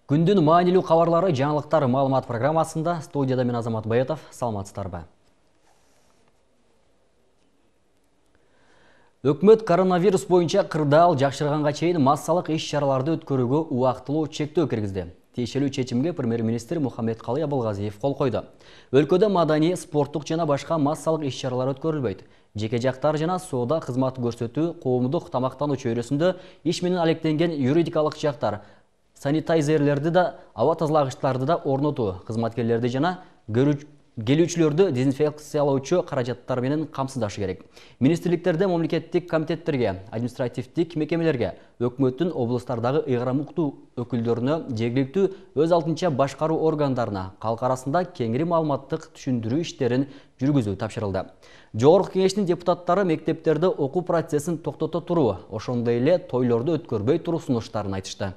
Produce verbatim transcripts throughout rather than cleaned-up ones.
Күндүн маанилүү кабарлары жаңылыктар маалымат программасында студияда мен Азамат Баятов. Саламатсыздарбы. Өкмөт коронавирус боюнча кырдаал жакшырганга чейин массалык иш-чараларды өткөрүүгө убактылуу чектөө киргизди. Тиешелүү чечимге премьер-министр Мухаммедкалый Абылгазиев кол койду. Өлкөдө маданий, спорттук жана башка массалык иш-чаралар өткөрүлбөйт. Жеке жактар жана соода кызмат көрсөтүү, коомдук тамактануу чөйрөсүндө иш менен алектенген юридикалык жактар, санитайзерлерди да, аба тазалагычтарды да орнотуу, кызматкерлерди жана келүүчүлөрдү дезинфекциялоочу каражаттар менен камсыздашы керек. Министрликтерде, мамлекеттик комитеттерге, административдик мекемелерге, өкмөттүн облустардагы ыйгарым уктуу өкүлдөрүнө, жергиликтүү өз алдынча башкаруу органдарына калк арасында кеңири маалыматтык түшүндүрүү иштерин жүргүзүү тапшырылды. Жогорку кеңештин депутаттары мектептерде окуу процессин токтото туруу, ошондой эле тойлорду өткөрбөй туруу сунуштарын айтышты.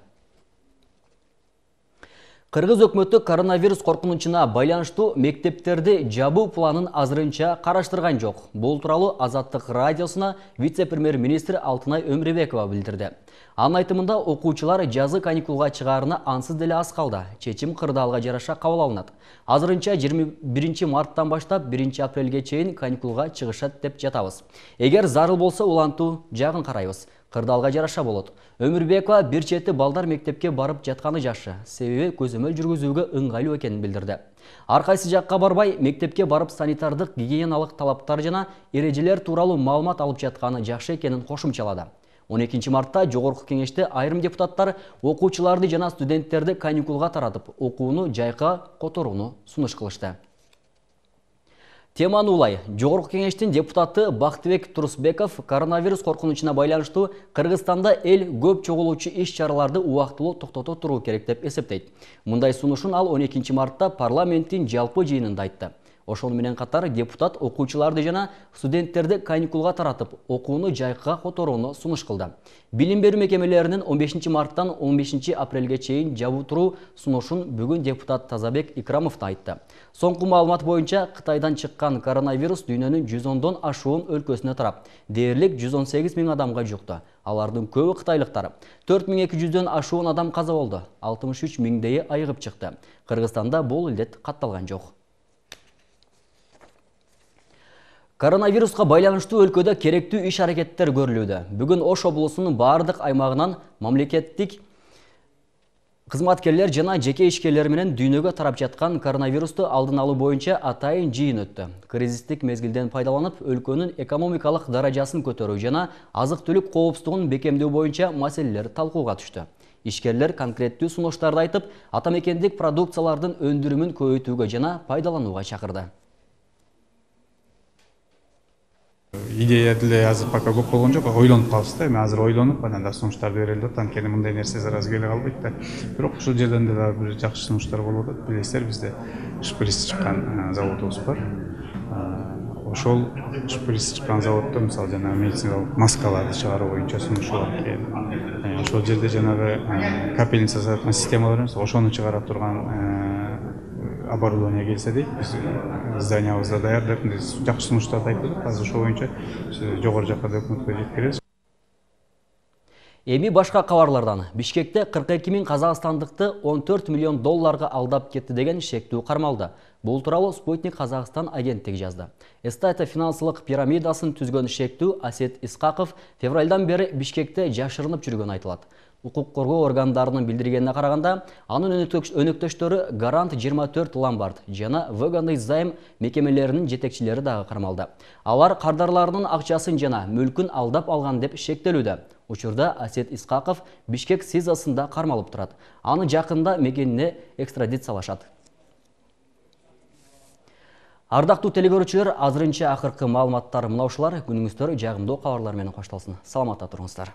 Кыргыз өкмөтү коронавирус коркунучуна байланыштуу мектептерди жабуу планын азырынча караштырган жок. Бул тууралуу Азаттык радиосуна вице-премьер-министр Алтынай Өмүрбекова билдирди. Анын айтымында окуучулар жазы каникулга чыгаарына ансыз деле аз калды. Чечим кырдаалга жараша кабыл алынат. Азырынча жыйырма биринчи марттан баштап биринчи апрелге чейин каникулга чыгышат деп жатабыз. Эгер зарыл болсо улантуу жагын карайбыз. Кырдаалга жараша болот. Өмүрбекова бир чети балдар мектепке барып жатканы жакшы, себеби көзөмөл жүргүзүүгө ыңгайлуу экенин билдирди. Ар кайсы жакка барбай, мектепке барып санитардык гигиеналык талаптар жана эрежелер тууралуу маалымат алып жатканы жакшы экенин кошумчалады. он экинчи мартта жогорку кеңеште айрым депутаттар окуучуларды жана студенттерди каникулга таратып, окууну жайка которууну сунуш кылышты. Теманы улай, жогорку кеңештин депутаты Бактыбек Турусбеков коронавирус коркунучуна байланыштуу Кыргызстанда эл көп чогулуучу иш-чараларды убактылуу токтото туруу керек деп эсептейт. Мындай сунушун ал он экинчи мартта парламенттин жалпы жыйынында айтты. Ошону менен катар депутат окуучуларды жана студенттерди каникулга таратып, окууну жайкыга которууну сунуш кылды. Билим берүү мекемелеринин он бешинчи марттан он бешинчи апрелге чейин жабуу туруу сунушун бүгүн депутат Тазабек Икрамов да айтты. Соңку маалымат боюнча Кытайдан чыккан коронавирус дүйнөнүн жүз ондон ашуун өлкөсүнө тарап, дээрлик жүз он сегиз миң адамга жукты. Алардын көбү кытайлыктар. төрт миң эки жүздөн ашуун адам каза болду. алтымыш үч миңдейи айыгып чыкты. Кыргызстанда бул илдет катталган жок. Коронавируска байланыштуу өлкөдө керектүү иш-аракеттер көрүлүүдө. Бүгүн Ош облусунун бардык аймагынан мамлекеттик кызматкерлер жана жеке ишкерлер менен дүйнөгө тарап жаткан коронавирусту алдын алуу боюнча атайын жыйын өттү. Кризистик мезгилден пайдаланып, өлкөнүн экономикалык даражасын көтөрүү жана азык-түлүк коопсуздугун бекемдөө боюнча маселелер талкууга түштү. Ишкерлер конкреттүү сунуштарды айтып, атамекендик продукциялардын өндүрүмүн көбөйтүүгө жана пайдаланууга чакырды. Идея деле азыр пока көп болгон жок, ойлонуп калабыз да. Эми азыр ойлонуп, анан сунуштарды берели деп, анткени мындай нерсе зараза келе калбайт да. Бирок ушул жерден деле бир жакшы сунуштар болуп атат. Билесиздер, бизде шприц чыккан заводубуз бар. Ошол шприц чыккан заводдо мисалы жана медициналык маскаларды чыгаруу боюнча сунушу бар экен. Ошол жерде жанагы капельница саткан системалар эмес, ошону чыгара турган оборудование келсе дейт, биз зданиябызда даярдап, жакшы сунуштарды айтып, азыр ошол боюнча жогору жакка өкмөткө жеткиребиз. Эми башка кабарлардан. Бишкекте кырк эки миң казакстандыкты он төрт миллион долларга алдап кетти деген шектүү кармалды. Бул тууралуу Спутник Казакстан агенттиги жазды. Эстата финансылык пирамидасын түзгөн шектүү Асет Исқақов февралдан бери Бишкекте жашырынып жүргөнү айтылат. Укук коргоо органдарынын билдиргенине караганда, анын өнөктөштөрү Гарант жыйырма төрт Ломбард жана Выгодный займ мекемелеринин жетекчилери дагы кармалды. Алар кардарларынын акчасын жана мүлкүн алдап алган деп шектелүүдө. Учурда Асет Исқақов Бишкек СИЗОсунда кармалып турат. Аны жакында мекенине экстрадициялашат. Ардактуу телекөрүүчүлөр, азырынча акыркы маалыматтар мына ушулар. Күнүңүздөр жагымдуу кабарлар менен коштолсун. Саламатта туруңуздар.